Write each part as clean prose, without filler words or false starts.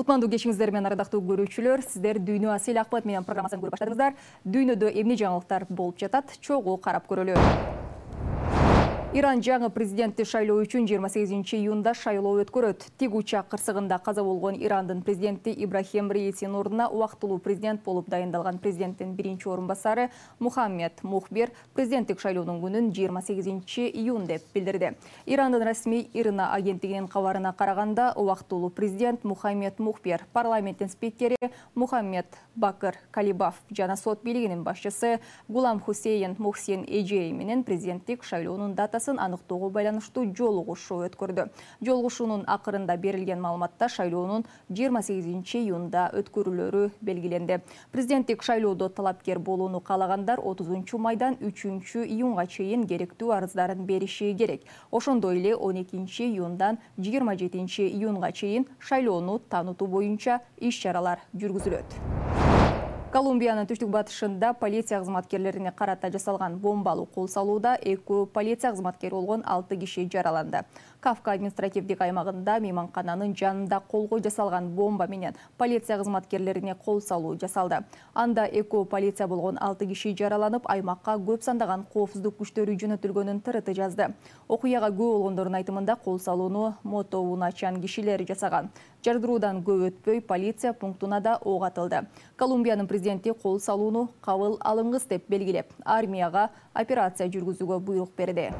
Кутмандуу кечиңиздер менен ардактуу көрүүчүлөр, сиздер Дүйнө Асел Акбат менен программасын көрүп баштадыңыздар. Дүйнөдө эмне жаңылыктар болуп жатат? Чогуу карап көрөлү. Иран жаңы президентти шайлоо үчүн 28 июнда шайлоо өткөрөт. Тик учак кырсыгында каза болгон Ирандын президенти Ибрахим Раисинин ордуна убактылуу президент болуп дайындалган президенттин биринчи орун басары Мухаммед Мухбер президенттик шайлоонун күнүн 28 июн деп билдирди. Ирандын расмий ИРНА агенттигинин кабарына караганда, убактылуу президент Мухаммед Мухбер, парламенттин спикери Мухаммед Бакыр Калибаф жана сот бийлигинин башчысы Гулам Хусейн Мухсин Эжей менен президенттик шайлоонун датасын аныктоого байланыштуу жолугушуу өткөрдү. Жолугушуунун акырында берилген маалыматта шайлоонун 28 июнда өткөрүлөрү белгиленди. Президенттик шайлоодо талапкер болууну каалагандар 30 майдан 3 июнга чейин керектүү арыздарын бериши керек. Ошондой эле 12 июндан 27 июнга чейин шайлоону таанутуу боюнча иш-чаралар жүргүзүлөт. Колумбиянын түштүк батышында полиция кызматкерлерине карата жасалган бомбалуу кол салууда 2 полиция кызматкери болгон 6 киши жараланды. Кавка административдик аймагында мейманкананын жанында колго жасалган бомба менен полиция кызматкерлерине кол салуу жасалды. Анда 2 полиция болгон 6 киши жараланып, аймакка көп сандаган коопсуздук күчтөрү жөнөтүлгөнүн ТРТ жазды. Окуяга күбө болгондордун айтымында кол салууну мотоуначан кишилер жасаган. Жардыруудан көп өтпөй полиция пунктуна да ок атылды. Колумбиянын президенти кол салууну кабыл алынгыс деп белгилеп, армияга операция жүргүзүүгө буйрук берди.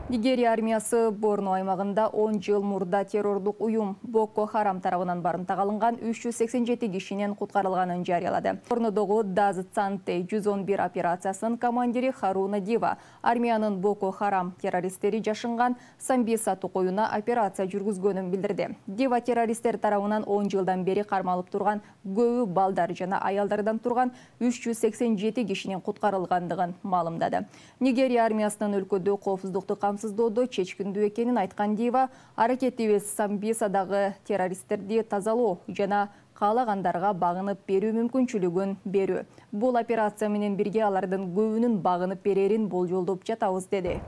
Нигерия армиясы Борно аймагында 10 жыл мурда террорлук уюм Боко Харам тарабынан барымтага алынган 387 кишинин куткарылганын жарыялады. Борнодогу Даз Цанте 111 операциясынын командири Харуна Дива армиянын Боко Харам террористтери жашынган Самбиса токоюна операция жүргүзгөнүн билдирди. Дива террористтер тарабынан 10 жылдан бери кармалып турган көбү балдар жана аялдардан турган 387 кишинин куткарылгандыгын маалымдады. Нигерия армиясынын өлкөдө коопсуздукту камсыздоодо чечкиндүү экенин айткан Дива, аракетибиз Самбисадагы террористтерди тазалоо жана каалагандарга багынып берүү мүмкүнчүлүгүн берүү. Бул операция менен бирге алардын көбүнүн багынып берерин болжолдоп жатабыз, деди.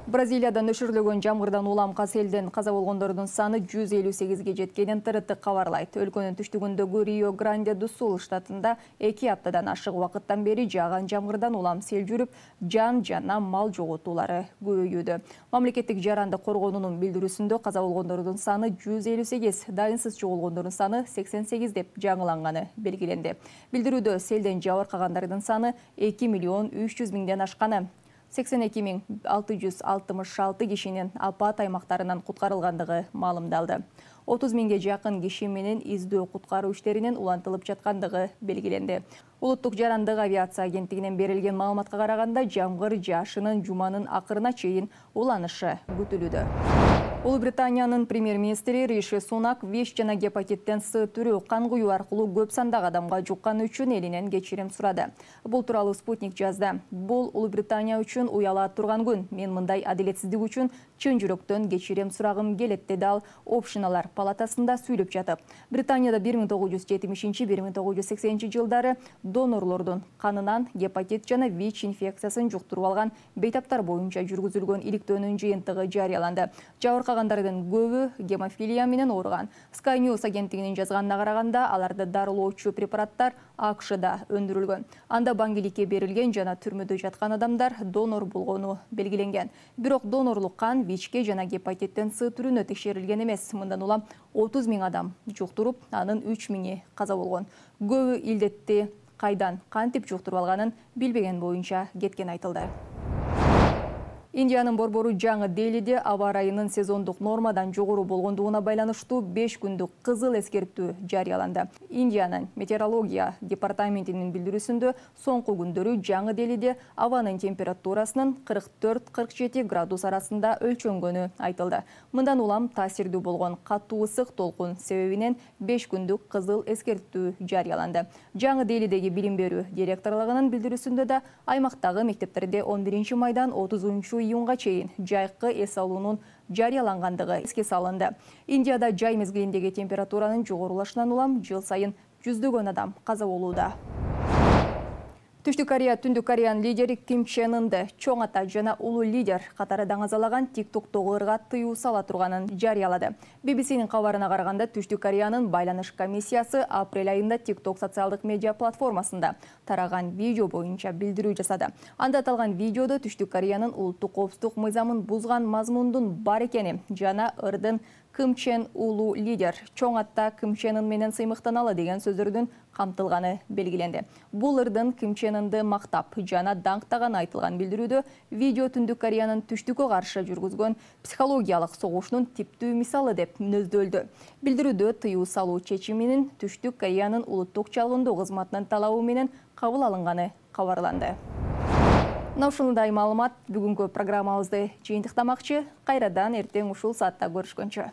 Бразилияда нөшөрлөгөн жамгырдан улам селден каза болгондордун саны 158ге жеткенин ТРТ кабарлайт. Өлкөнүн түштүгүндөгү Рио-Гранде-ду-Сул штатында 2 аптадан ашык убакыттан бери жааган жамгырдан улам сел жүрүп, жан жана мал жоготуулары көбөйүүдө. Мамлекеттик жаранды коргоонунун билдирүүсүндө каза болгондордун саны 158, дайынсыз жоголгондордун саны 88 деп жаңыланганы белгиленди. Билдирүүдө селден жабыркагандардын саны 2 миллион 300 миңден ашканы, 82 666 кишинин апат аймактарынан куткарылгандыгы маалымдалды. 30 миңге жакын киши менен издөө куткаруу иштеринин улантылып жаткандыгы белгиленди. Улуттук жарандык авиация агенттигинен берилген маалыматка караганда, жамгыр жашынын жуманын акырына чейин уланышы күтүлүүдө. Улуу Британиянын премьер-министри Риши Сунак ВИЧ жана гепатиттен С түрү кан куюу аркылуу көп сандагы адамга жукканы үчүн элинен кечирим сурады. Бул тууралуу Спутник жазды. Бул Улуу Британия үчүн уяла турган күн. Мен мындай адилетсиздик үчүн чын жүрөктөн кечирим сурагым келет, деди ал Общиналар палатасында сүйлөп жатып. Британияда 1970-1980 жылдары донорлордун канынан гепатит жана ВИЧ инфекциясын жуктуруп алган бейтаптар боюнча жүргүзүлгөн иликтөөнүн жыйынтыгы жарыяланды. Жабыркагандардын көбү гемофилия менен ооруган. Sky News агенттигинин жазганына караганда, аларды дарылоочу препараттар АКШда өндүрүлгөн. Анда баңгиликке берилген жана түрмөдө жаткан адамдар донор болгону белгиленген. Бирок донорлук кан ВИЧке жана гепатиттен С түрүнө текшерилген эмес. Мындан улам 30 миң адам жуктуруп, анын 3 миңи каза болгон. Көбү илдетти кайдан, кантип жуктуруп алганын билбеген боюнча кеткен айтылды. Индиянын борбору жаңы Делиде аба ырайынын сезондук нормадан жогору болгондугуна байланыштуу 5 күндүк кызыл эскертүү жарыяланды. Индиянын метеорология департаментинин билдирүүсүндө соңку күндөрү жаңы Делиде абанын температурасынын 44-47 градус арасында өлчөнгөнү айтылды. Мындан улам таасирдүү болгон катуу ысык толкун себебинен 5 күндүк кызыл эскертүү жарыяланды. Жаңы Делидеги билим берүү директорлугунун билдирүүсүндө да аймактагы мектептерде 11 майдан 30 июнга чейин жайкы эс алуунун жарыялангандыгы эске салынды. Индияда жай мезгилиндеги температуранын жогорулашынан улам жыл сайын жүздөгөн адам каза болууда. Түштүк Корея Түндүк Кореянын лидери Ким Чен Ынды чоң ата жана улуу лидер катары даңазалаган TikToктогу ырга тыюу сала турганын жарыялады. BBC-нин кабарына караганда Түштүк Кореянын байланыш комиссиясы апрель айында TikTok социалдык медиа платформасында тараган видео боюнча билдирүү жасады. Анда аталган видеодо Түштүк Кореянын улуттук коопсуздук мыйзамын бузган мазмундун бар экени жана ырдын Ким Чен улуу лидер чоң ата Ким Чен Ын менен сыймыктаналы деген сөздөрдүн камтылганы белгиленди. Бул ырдын Ким Чен Ынды мактап жана даңктаганы айтылган билдирүүдө видео Түндүк Кореянын түштүккө каршы жүргүзгөн психологиялык согушунун типтүү мисалы деп мүнөздөлдү. Билдирүүдө тыюу салуу чечиминин Түштүк Кореянын улуттук чалгындоо кызматынын талабы менен кабыл алынганы кабарланды. Ушундай маалымат бүгүнкү программабызды жыйынтыктамакчы. Кайрадан эртең ушул саатта көрүшкөнчө.